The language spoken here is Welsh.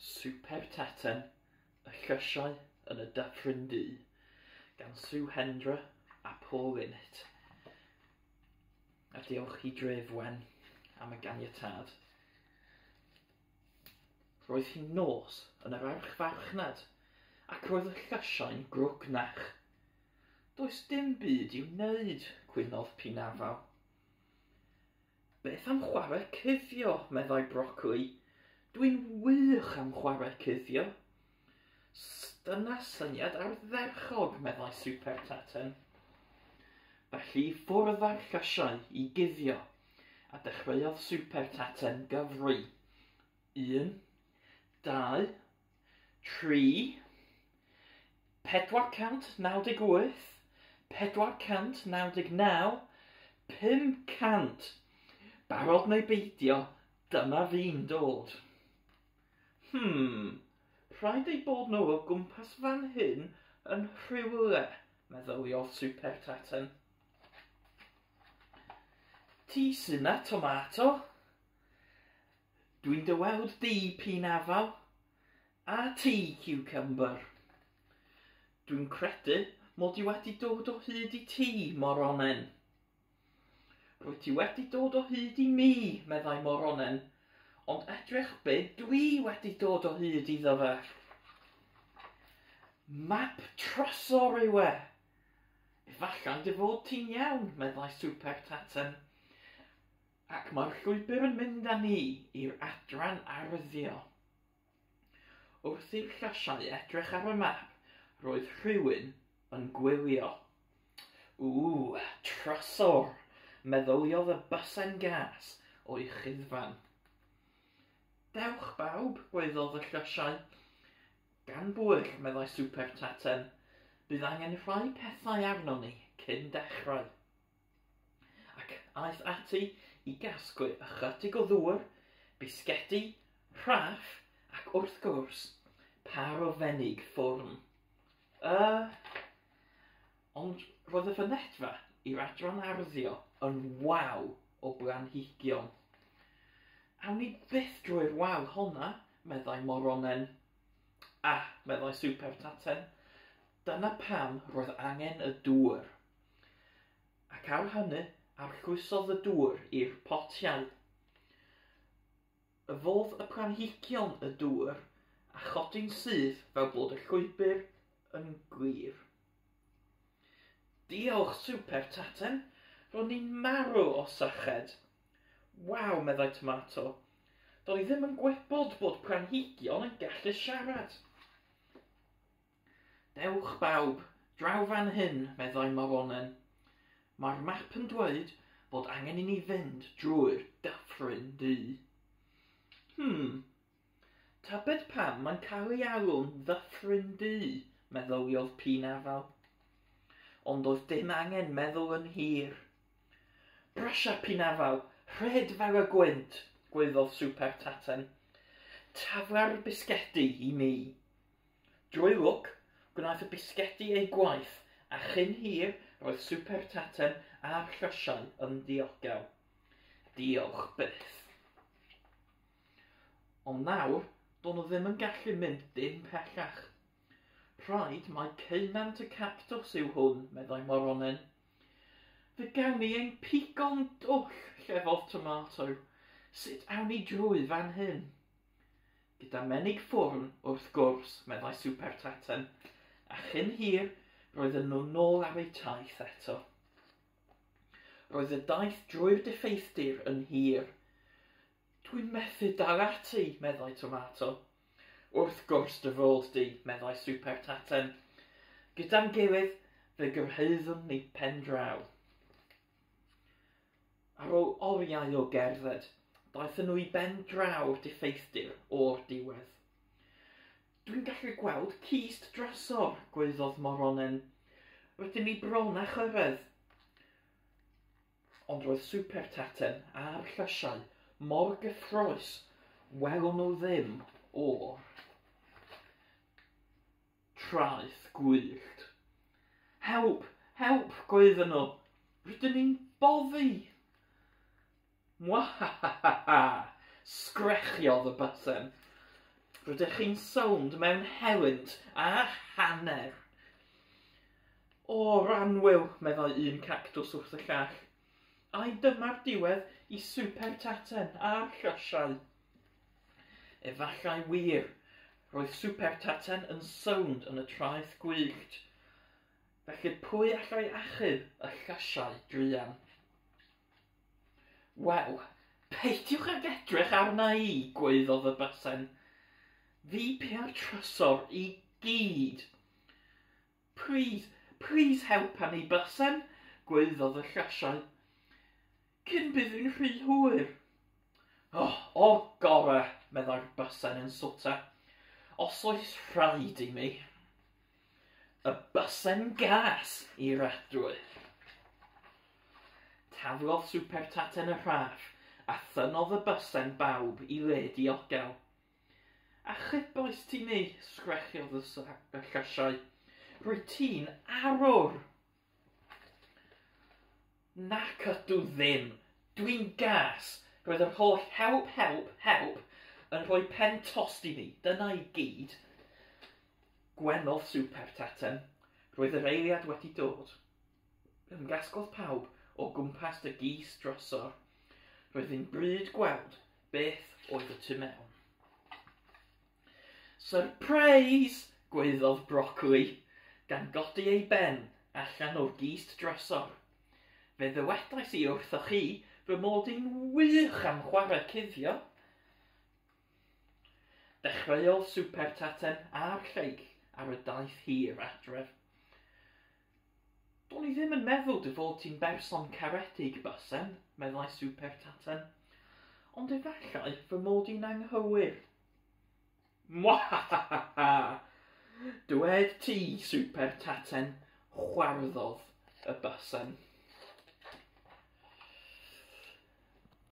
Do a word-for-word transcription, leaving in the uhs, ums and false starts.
Super Taten, y llysiau yn y Dyffryn Du, gan Sue Hendra a Paul Linnett. A diolch i Dref Wen am y ganiatâd. Roedd hi'n nos yn yr archfarchnad, ac roedd y llysiau'n grwgnach. Does dim byd i'w wneud, cwynodd Pinafal. Beth am chwarae cuddio, meddai Brocoli. Dwi'n wych am chwarae cuddio. Dyna syniad ardderchog, meddai Super Taten. Felly ffwrdd â'r llysiau i guddio, a dechreuodd Super Taten gyfri. Un, dau, tri, pedwar cant naw deg wyth, pedwar cant naw deg naw, pum cant. Barod neu beidio, dyma fi'n dod. Hmm, rhaid eu bod nhw o gwmpas fan hyn yn rhywle, meddyliodd Super Taten. Ti sy'n na, Tomato? Dwi'n dy weld di, Pinafal, a ti, Cucumber. Dwi'n credu mod i wedi dod o hyd i ti, Moronen. Rwyt ti wedi dod o hyd i mi, meddai Moronen, ond edrych be dwi wedi dod o hyd iddo fe. Map trysor yw e. Efallai dy fod ti'n iawn, meddai Super Taten. Ac mae'r llwybr yn mynd â ni i'r adran arddio. Wrth i'r llysiau edrych ar y map, roedd rhywun yn gwylio. Ww, trysor, meddyliodd y bysen gas o'i chuddfan. Dewch bawb, gwaeddodd y llysiau. Gan bwyll, meddai Super Taten, bydd angen rhai pethau arnon ni cyn dechrau. Ac aeth ati i gasglu ychydig o ddŵr, bisgedi, rhaff ac wrth gwrs, par o fenig ffwrn. Uh, ond roedd y fynedfa i'r adran arddio yn waw o blanhigion. Awn ni byth drwy'r wal honna, meddai Moronen. Ah, meddai Super Taten, dyna pam roedd angen y dŵr. Ac ar hynny, arllwysodd y dŵr i'r potiau. Yfodd y planhigion y dŵr a chodi'n syth fel bod y llwybr yn glir. Diolch, Super Taten, ro'n i'n marw o syched. Waw, meddai Tomato, do'n i ddim yn gwybod bod planhigion yn gallu siarad. Dewch bawb, draw fan hyn, meddai Moronen. Mae'r map yn dweud bod angen i ni fynd drwy'r Dyffryn Du. Hmm, tybed pam mae'n cael ei alw'n Ddyffryn Du, meddyliodd Pinafal. Ond oedd dim angen meddwl yn hir. Brysia, Pinafal, rhed fel y gwynt, gwaeddodd Super Taten. Tafla'r bisgedi i mi. Drwy lwc, gwnaeth y bisgedi ei gwaith, a chyn hir roedd Super Taten a'r llysiau yn ddiogel. Diolch byth. Ond nawr, do'n nhw ddim yn gallu mynd dim pellach. Rhaid mai ceunant y cactws yw hwn, meddai Moronen. Fe gawn ni ein pigo'n dwll, llefodd Tomato. Sut awn ni drwy fan hyn? Gyda menig ffwrn, wrth gwrs, meddai Super Taten, a chyn hir roedden nhw nôl ar eu taith eto. Roedd y daith drwy'r diffeithdir yn hir. Dwi'n methu dal ati, meddai Tomato. Wrth gwrs dy fod di, meddai Super Taten. Gyda'n gilydd, fe gyrhaeddwn ni pen draw. Ar ôl oriau o gerdded, daethon nhw i ben draw'r diffeithdir o'r diwedd. Dwi'n gallu gweld cist drysor, gwaeddodd Moronen. Rydyn ni bron â chyrraedd. Ond roedd Super Taten a'r llysiau mor gyffrous, welon nhw ddim o'r traeth gwyllt. Help, help, gwaeddon nhw. Rydyn ni'n boddi. Mwahahaha, sgrechiodd y bysen. Rydych chi'n sownd mewn helynt a hanner. O, annwyl, meddai un cactws wrth y llall. Ai dyma'r diwedd i Super Taten a'r llysiau. Efallai wir, roedd Super Taten yn sownd yn y traeth gwyllt. Felly pwy allai achub y llysiau druan? Wel, peidiwch ag edrych arna i, gwaeddodd y bysen. Fi pia'r trysor i gyd. Please, please helpa ni, bysen, gwaeddodd y llysiau. Cyn bydd yn rhy hwyr. Oh, o gore, meddai'r bysen yn swta. Os oes rhaid i mi. Y bysen gas i'r adwy. Taflodd Super Taten y rhaff a thynnodd y bysen bawb i le diogel. Achubais ti ni, sgrechiodd y, y llysiau. Rwyt ti'n arwr. Nac ydw ddim. Dwi'n gas. Roedd yr holl help, help, help yn rhoi pen tost i mi. Dyna i gyd. Gwenodd Super Taten. Roedd yr eiliad wedi dod. Ymgasglodd pawb o gwmpas y gist drysor. Roedd hi'n bryd gweld beth oedd y tu mewn. Surprise! Gwaeddodd Brocoli, gan godi ei ben allan o'r gist drysor. Fe ddywedais i wrthoch chi fy mod i'n wych am chwarae cuddio. Dechreuodd Super Taten a'r lleill ar y daith hir adref. Do'n i ddim yn meddwl dy fod ti'n berson caredig, bysen, meddai Super Taten, ond efallai fy mod i'n anghywir. Mwahahaha! Dwed ti, Super Taten, chwarddodd y bysen.